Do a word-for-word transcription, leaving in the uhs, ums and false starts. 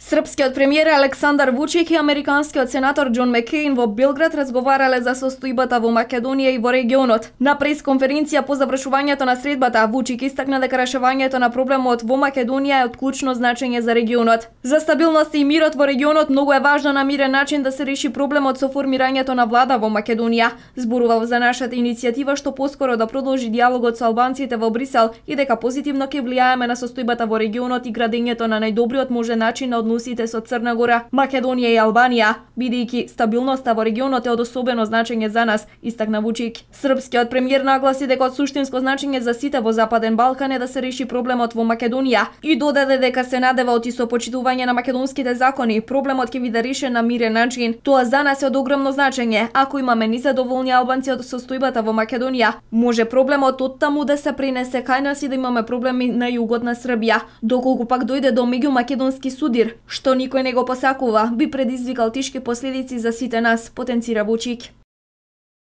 Српскиот премиер Александар Вучик и американскиот сенатор Џон Маккеин во Белград разговарале за состојбата во Македонија и во регионот. На пресконференција по завршувањето на средбата, Вучик истакна дека решавањето на проблемот во Македонија е од клучно значење за регионот. За стабилноста и мирот во регионот многу е важно на мирен начин да се реши проблемот со формирањето на влада во Македонија. Зборував за нашата иницијатива што поскоро да продолжи диалогот со албанците во Брисел и дека позитивно ќе влијаеме на состојбата во регионот и градењето на најдобриот можен начин на односите со Црна Гора, Македонија и Албанија, бидејќи стабилноста во регионот е од особено значење за нас, истакна Вучик. Српскиот премиер нагласи дека од суштинско значење за сите во Западен Балкан е да се реши проблемот во Македонија и додаде дека се надева оти со почитување на македонските закони, проблемот ќе биде решен на мирен начин. Тоа за нас е од огромно значење. Ако имаме незадоволни албанци од состојбата во Македонија, може проблемот од таму да се пренесе кај нас и да имаме проблеми на југот на Србија. Доколку пак дојде до меѓумакедонски судир, што никој не го посакува, би предизвикал тешки последици за сите нас, потенцира Вучик.